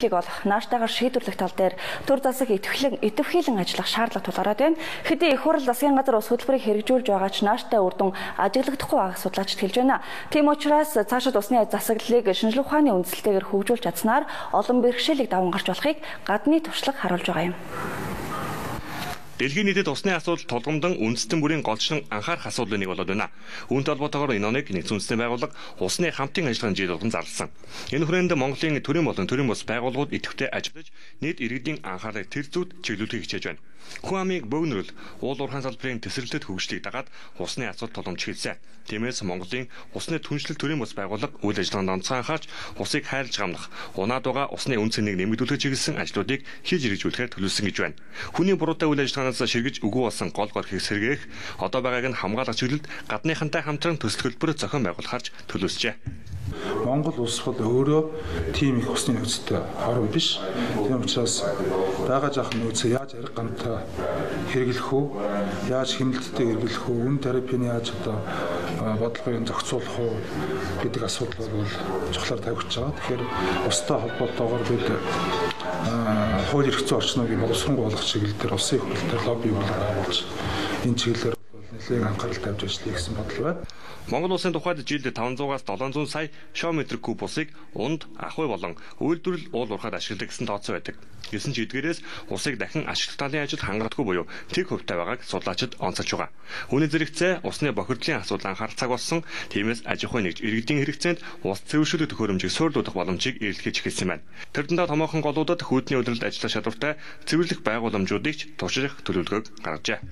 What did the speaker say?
олох нааштайгаар шийдвэрлэх тал дээр төр засаг идэвхжүүлэн ажиллах шаардлага тулгараад байна. Хэдий их хурл засгийн газар ус хөтөлбөрийг хэрэгжүүлж байгаа ч нааштай үр дүн ажиглагдахгүй байгааг судлаачид хэлж байна. Тийм учраас цаашид усны засаглалыг шинжлэх ухааны үндсэлтэйгээр хөгжүүлж чадсанаар олон бэрхшээлийг даван гарч болохыг гадны туршлага харуулж байгаа юм. Дэлхийн нийтэд усны асуудал тулгамдан үндэстэн бүрийн голчлон анхаарах асуудлын нэг болоод байна. Үүнтэй холбоотойгоор энэ оныг нэгдсэн үндэсний байгууллага усны хамтын ажиллагааны жил болгон зарласан. Энэ хүрээнд Монголын төрийн болон төрийн бус байгууллагууд идэвхтэй ажиллаж, нийт иргэдийн анхаарлыг тэр зүйд чиглүүлэхийг хичээж байна. Хүн амыг бөөгнөрөл уул уурхайн салбарын тесрэлтэд хөгжлийг дагаад усны асуудал тулгамж хэлсэн. Тиймээс Монголын усны түншлэл төрийн бус байгууллага үйл ажиллагаанд онцгой анхаарч усыг хайрлаж гамнах, унаад байгаа усны үн цэнийг нэмэгдүүлэх чиглэсэн ажлуудыг хийж хэрэгжүүлэхээр төлөвлөсөн гэж байна. Хүний буруутай үйл ажиллагаанаас ширгэж үгүй болсон гол хэрэг сэргээх, одоо байгааг нь хамгаалах чиглэлд гадныхантай хамтран төсөл хөтөлбөр зохион байгуулахарч төлөвлөжээ. Монгол улс бол өөрөө тийм их усны нөөцтэй хорон биш. Тийм учраас байгаа жаахан нөөцөө яаж арга гамтай хэрэглэх үү, яаж хяналттай хэрэглэх үү, үн терапийн яаж одоо бодлогыг зохицуулах уу гэдэг асуудал бол чухлаар тавигдж байгаа. Тэгэхээр устай холбоотойгоор бид хууль эрх зүйн орчныг боловсронгуй болгох чиглэл дээр улсын хуралдаар лобби байгуулж энэ чиглэлээр нэлээд анхаарал тавьж ажиллая гэсэн бодол байна. Монгол улсын тухайд жилд 500-аас 700 сая шм куб усыг унд, ахуй болон үйлдвэрлэл уул уурхайд ашигладаг гэсэн тооцоо байдаг. Гэсэн ч эдгээрээс усыг дахин ашиглах талын ажил хангалтгүй буюу тэг хувьтай байгааг судлаачид онцолж байгаа. Үүний зэрэгцээ усны бохирдлын асуудал анхаарах цаг болсон. Тиймээс аж ахуй нэгж иргэдийн хэрэгцээнд ус цэвэршүүлэх төхөөрөмжийг суурилуулах боломжийг эрэлхэж эхэлсэн байна. Тэр дэндээ томоохон голуудад хүүдний удирдалд ажиллах шалгууртай цэвэрлэх байгууламжуудыг ч турших төлөвлөгөөг гаргажээ.